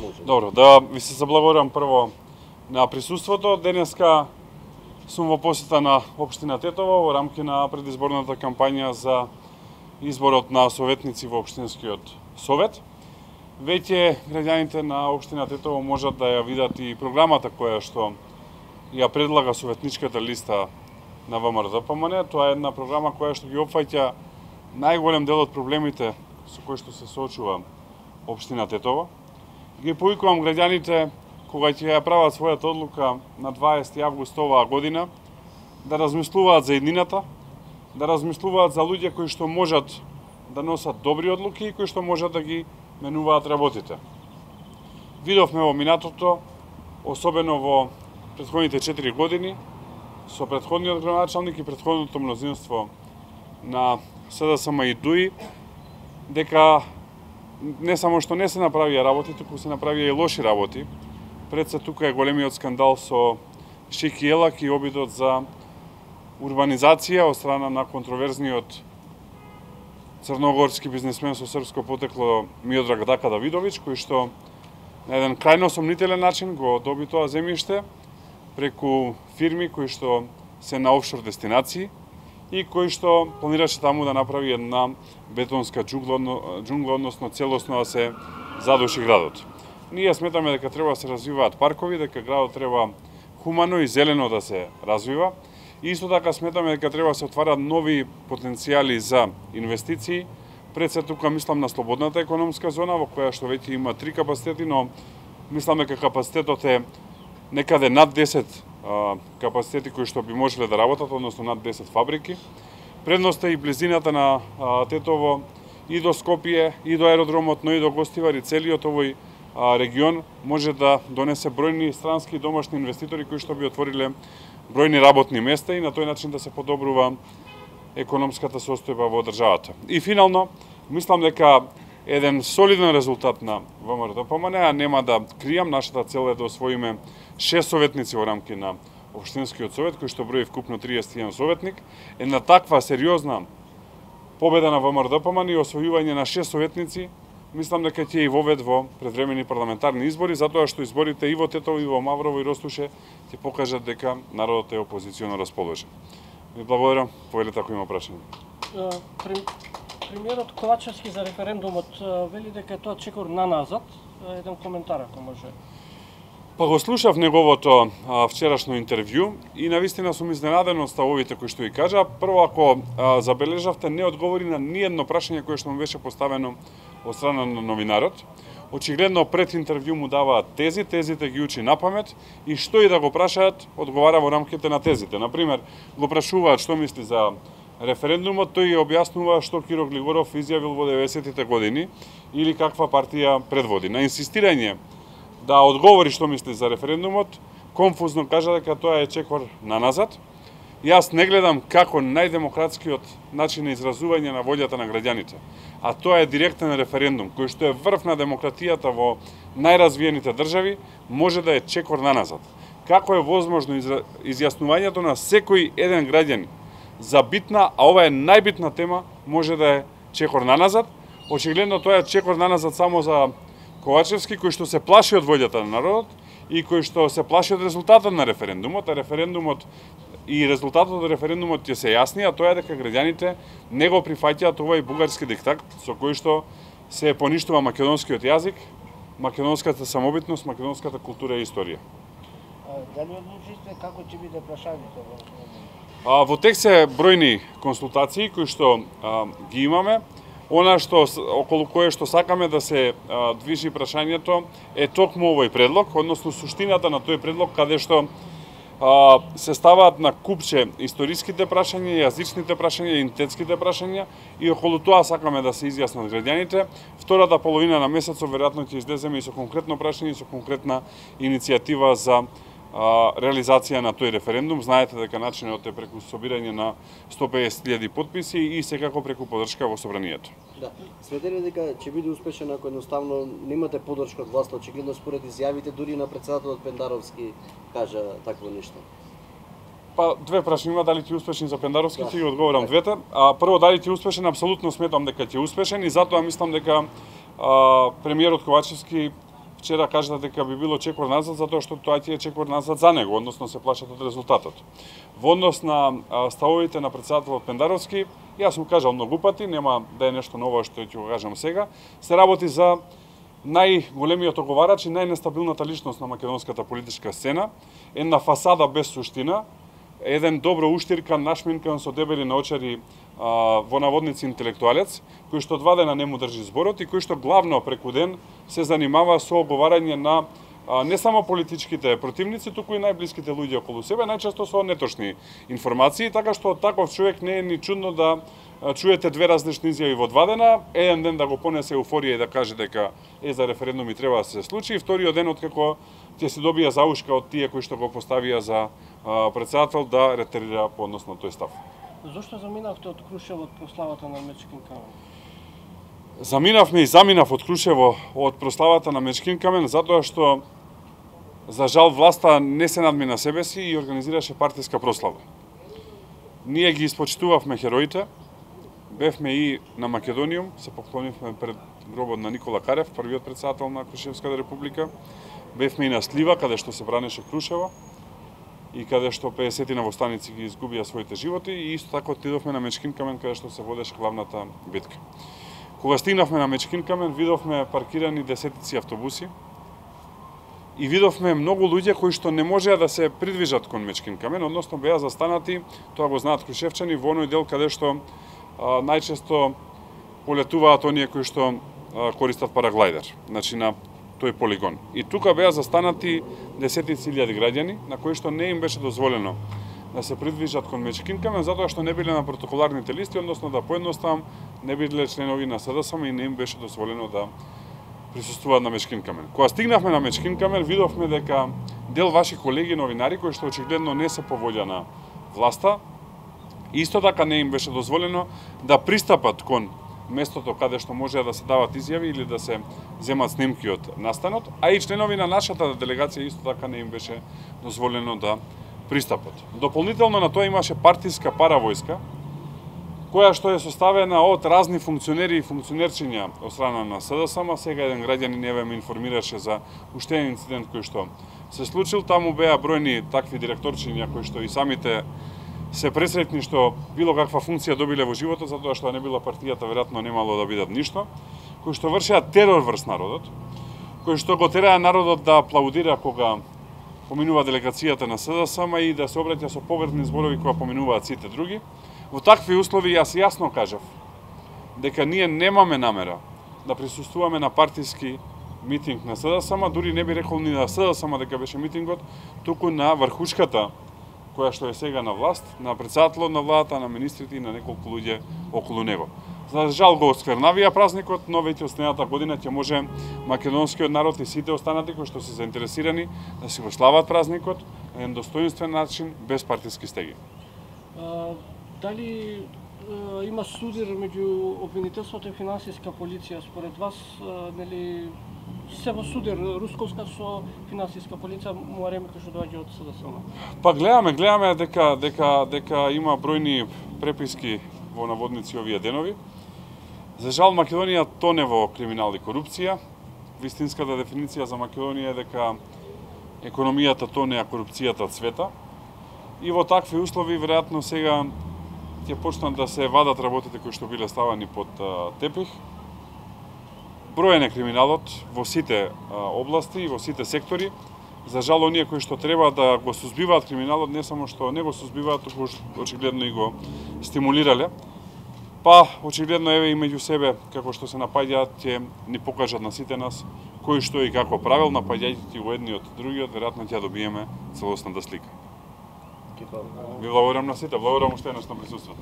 Добро, да ви се заблагодарам прво на присуството. Денеска сум во посета на општина Тетово во рамки на предизборната кампања за изборот на советници во општинскиот совет. Веќе граѓаните на општина Тетово можат да ја видат и програмата која што ја предлага советничката листа на ВМРО-ДПМН. Тоа е една програма која што ги опфаќа најголем дел од проблемите со кои што се соочува општина Тетово. Ги повикувам граѓаните кога ќе ја прават својата одлука на 20 август оваа година да размислуваат за еднината, да размислуваат за луѓе кои што можат да носат добри одлуки и кои што можат да ги менуваат работите. Видовме во минатото, особено во претходните 4 години, со претходниот градоначалник и претходното мнозинство на СДСМ и ДУИ, дека не само што не се направија работи, туку се направија и лоши работи. Пред се тука е големиот скандал со Шики Елак и обидот за урбанизација од страна на контроверзниот црногорски бизнесмен со српско потекло Миодраг Дака Давидович, кој што на еден крајно сомнителен начин го доби тоа земјиште преку фирми кои што се на офшор дестинации и кој што планираше таму да направи една бетонска џунгла, односно целосно да се задуши градот. Ние сметаме дека треба да се развиваат паркови, дека градот треба хумано и зелено да се развива. И исто така сметаме дека треба да се отварат нови потенцијали за инвестиции. Пред се тука мислам на слободната економска зона, во која што веќе има 3 капацитети, но мислам дека капацитетот е некаде над 10 капацитети кои што би можеле да работат, односно над 10 фабрики. Предноста и близината на Тетово и до Скопје, и до аеродромот, но и до Гостивар, и целиот овој регион може да донесе бројни странски и домашни инвеститори кои што би отвориле бројни работни места и на тој начин да се подобрува економската состојба во државата. И финално, мислам дека еден солиден резултат на ВМРО-ДПМН, а нема да кријам, нашата цел е да освоиме 6 советници во рамки на Општинскиот совет, кој што брои вкупно 31 советник. Една таква сериозна победа на ВМРО-ДПМН и освојување на 6 советници, мислам дека ќе и вовед во предвремени парламентарни избори, затоа што изборите и во Тетово, и во Маврово, и Ростуше ќе покажат дека народот е опозиционо расположен. Ви благодарам, повелете ако има прашање. Премиерот Ковачевски за референдумот вели дека тоа чекор наназад. Еден коментар ако може. Па го слушав неговото вчерашно интервју и навистина сум изненаден од ставовите кои што ги кажа. Прво, ако забележавте, не одговори на ниедно прашање кое што му беше поставено од страна на новинарот. Очигледно пред интервју му даваат тези, тезите ги учи напамет и што и да го прашаат, одговара во рамките на тезите. Например, го прашуваат што мисли за референдумот, тој ја објаснува што Киро Глигоров изјавил во 90-тите години или каква партија предводи. На инсистирање да одговори што мисли за референдумот, конфузно кажа дека тоа е чекор наназад. Јас не гледам како најдемократскиот начин на изразување на волјата на граѓаните, а тоа е директен референдум, кој што е врв на демократијата во најразвиените држави, може да е чекор наназад. Како е возможно изјаснувањето на секој еден граѓанин за битна, а ова е најбитна тема, може да е чекор наназад? Очигледно тоа е чекор наназад само за Ковачевски, кој што се плаши од волјата на народот и кој што се плаши од резултатот на референдумот, а референдумот и резултатот од референдумот ќе се јасни, а тоа е дека граѓаните не го прифаќаат овој бугарски диктат со кој што се поништува македонскиот јазик, македонската самобитност, македонската култура и историја. Дали одлучите како ќе биде прашањето? Во тек се бројни консултации кои што ги имаме. Она што околу кое што сакаме да се движи прашањето е токму овој предлог, односно суштината на тој предлог каде што се ставаат на купче историските прашања, јазичните прашања, идентитетските прашања и околу тоа сакаме да се изјаснат граѓаните. Втората половина на месецот веројатно ќе излеземе и со конкретно прашање и со конкретна иницијатива за реализација на тој референдум. Знаете дека начинот е преку собирање на 150.000 потписи и секако преку поддршка во собранието. Да. Сметате ли дека ќе биде успешен ако едноставно немате поддршка од власта, очигледно според изјавите дури на претседателот Пендаровски кажа такво нешто? Па две прашања има, дали ќе успешен за Пендаровски, ќе ги одговорам двете. Прво, дали ќе успешен, апсолутно сметам дека ќе успешен и затоа мислам дека премиерот Ковачевски вчера кажа дека би било чекор назад затоа што тоа ќе е чекор назад за него, односно се плашат од резултатот. Во однос на ставовите на претседателот Пендаровски, јас сум кажал многу пати, нема да е нешто ново што ќе го кажам сега, се работи за најголемиот оговарач и најнестабилната личност на македонската политичка сцена, една фасада без суштина, еден добро уштиркан, нашминкан со дебели наочари во наводници интелектуалец, кој што 2 дена не му држи зборот и кој што главно преку ден се занимава со оговарање на не само политичките противници, туку и најблиските луѓе околу себе, најчесто со неточни информации, така што од таков човек не е ни чудно да чуете 2 различни изјави во 2 дена, еден ден да го понесе еуфорија и да каже дека за референдум и треба да се случи, и вториот ден откако ќе се добија заушка од тие кои што го поставија за претседател да ретерира по однос на тој став. Зошто заминавте од Крушево од прославата на Мечкин камен? Заминавме и заминав од Крушево од прославата на Мечкин камен затоа што за жал власта не се надмина себе си и организираше партиска прослава. Ние ги испочитувавме хероите, бевме и на Македониум, се поклонивме пред гробот на Никола Карев, првиот претседател на Крушевската република, бевме и на Слива, каде што се бранеше Крушево, и каде што 50 на востаници ги изгубија своите животи, и исто така отидовме на Мечкин камен, каде што се водеше главната битка. Кога стигнавме на Мечкин камен, видовме паркирани десетици автобуси и видовме многу луѓе кои што не можеа да се придвижат кон Мечкин камен, односно беа застанати, тоа го знаат крушевчани, во оној дел каде што најчесто полетуваат оние кои што користат параглайдер, значи на тој полигон. И тука беа застанати десетици илјади граѓани на кои што не им беше дозволено да се придвижат кон Мечкин камен затоа што не биле на протоколарните листи, односно да поедноставам не биле членови на СДСМ и не им беше дозволено да присуствуваат на Мечкин камен. Кога стигнавме на Мечкин камен, видовме дека дел ваши колеги новинари кои што очигледно не се по волја на власта, исто така не им беше дозволено да пристапат кон местото каде што може да се дават изјави или да се земат снимки од настанот, а и членови на нашата делегација исто така не им беше дозволено да пристапат. Дополнително на тоа имаше партиска паравојска, која што е составена од разни функционери и функционерчиња од страна на СДСМ. Сега еден граѓанин еве ме информираше за уште еден инцидент кој што се случил. Таму беа бројни такви директорчиња кои што и самите се пресретни што било каква функција добиле во животот, затоа што не била партијата, веројатно немало да бидат ништо, кои што вршеа терор врз народот, кои што го тераа народот да аплаудира кога поминува делегацијата на СДСМ и да се обраќа со поврзни зборови кога поминуваат сите други. Во такви услови јас јасно кажав дека ние немаме намера да присуствуваме на партиски митинг на СДСМ, дури не би рекол ни на СДСМ дека беше митингот, туку на врхушката која што е сега на власт, на претседателот на владата, на министрите и на неколку луѓе околу него. За жал го осквернавија празникот, но веќе од следната година ќе може македонскиот народ и сите останати кои што се заинтересирани да си го слават празникот на еден достоинствен начин, без партиски стеги. Дали има судир меѓу обвинителството и финансиска полиција? Според вас, нели се во судир русковска со финансиска полиција Муареме кој што доаѓа од СДСМ? Па гледаме дека има бројни преписки во наводници овие денови. За жал Македонија тоне во криминал и корупција. Вистинската дефиниција за Македонија е дека економијата тоне, а корупцијата цвета. И во такви услови веројатно сега ќе почнат да се вадат работите кои што биле ставани под тепих. Броен е криминалот во сите области и во сите сектори. За жал, оние кои што треба да го сузбиваат криминалот, не само што не го сузбиваат, туку очигледно и го стимулирале. Па, очигледно, еве и меѓу себе, како што се напаѓаат, ќе ни покажат на сите нас кој што и како правил, напаѓајќи го едниот другиот, веројатно ќе добиеме целосната слика. Ви благодарам на сите, благодарам уште еднаш на присуството.